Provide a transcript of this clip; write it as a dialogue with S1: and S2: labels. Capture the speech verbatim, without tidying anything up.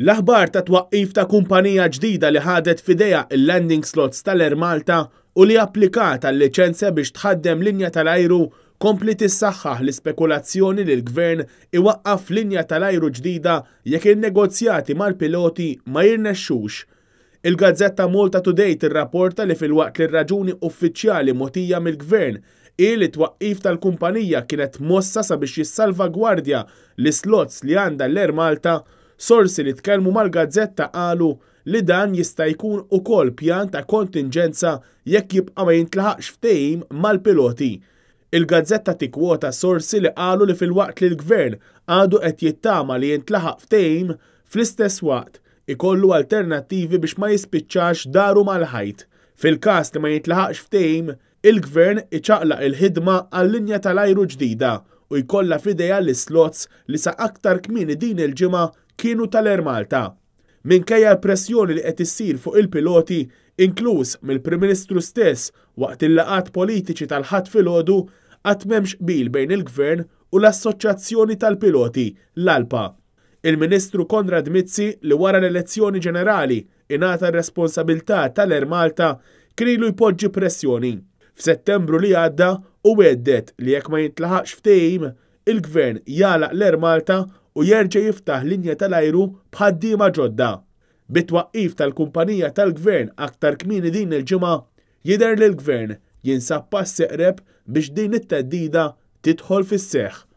S1: L-aħbar ta' twaqqif ta' kumpanija ġdida li ħadet f'idejha il-landing slots tal-Air Malta u li applikat għal liċenzja biex tħaddem linja tal-ajru kompliet issaħħaħ l-ispekulazzjoni li l-gvern iwaqqaf linja tal-ajru ġdida jekk il-negozjati mal-piloti ma jirnexxux. Il-gazzetta Malta Today tirrapporta li filwaqt li r-raġuni uffiċjali mogħtija mill-gvern hi li twaqqif tal-kumpanija kienet mossa sabiex jissalvagwardja l-slots li għandha l-Air Malta, sorsi li tkellmu mal-gazzetta qalu li dan jista' jkun ukoll pjan ta' kontingenza jekk jibqa' ma jintlaħaqx ftehim mal-piloti. Il-gazzetta tikkwota sorsi li qalu li filwaqt li l-gvern għadu qed jittama li jintlaħaq ftehim, fl-istess waqt ikollu alternattivi biex ma jispiċċax daru mal-ħajt. Fil-każ li ma jintlaħaqx ftehim, il-gvern iċaqlaq il-ħidma għal-linja tal-ajru ġdida u jkollha f'idejha l-slots li sa aktar kmieni din il-ġimgħa kienu tal-Air Malta. Minkejja l-pressjoni li qed issir fuq il-piloti, inkluż mill-Prim Ministru stess waqt il-laqgħat politiċi tal-Ħadd filgħodu, qatt m'hemmx qbil bejn il-Gvern u l-Assoċjazzjoni tal-Piloti, l-ALPA. Il-Ministru Konrad Mizzi, li wara l-elezzjoni ġenerali ingħata r-responsabilità tal-Air Malta, kien ilu jpoġġi pressjoni. F'Settembru li għadda u għedded li jekk ma jintlaħaqx ftehim, il-Gvern jagħlaq l-Air Malta u jerġa' jiftaħ linja tal-ajru b'ħaddiema ġodda. Bit-twaqqif tal-kumpanija tal-Gvern aktar kmieni din il-ġimgħa, jidher li l-Gvern jinsab pass eqreb biex din it-theddida tidħol fis-seħħ.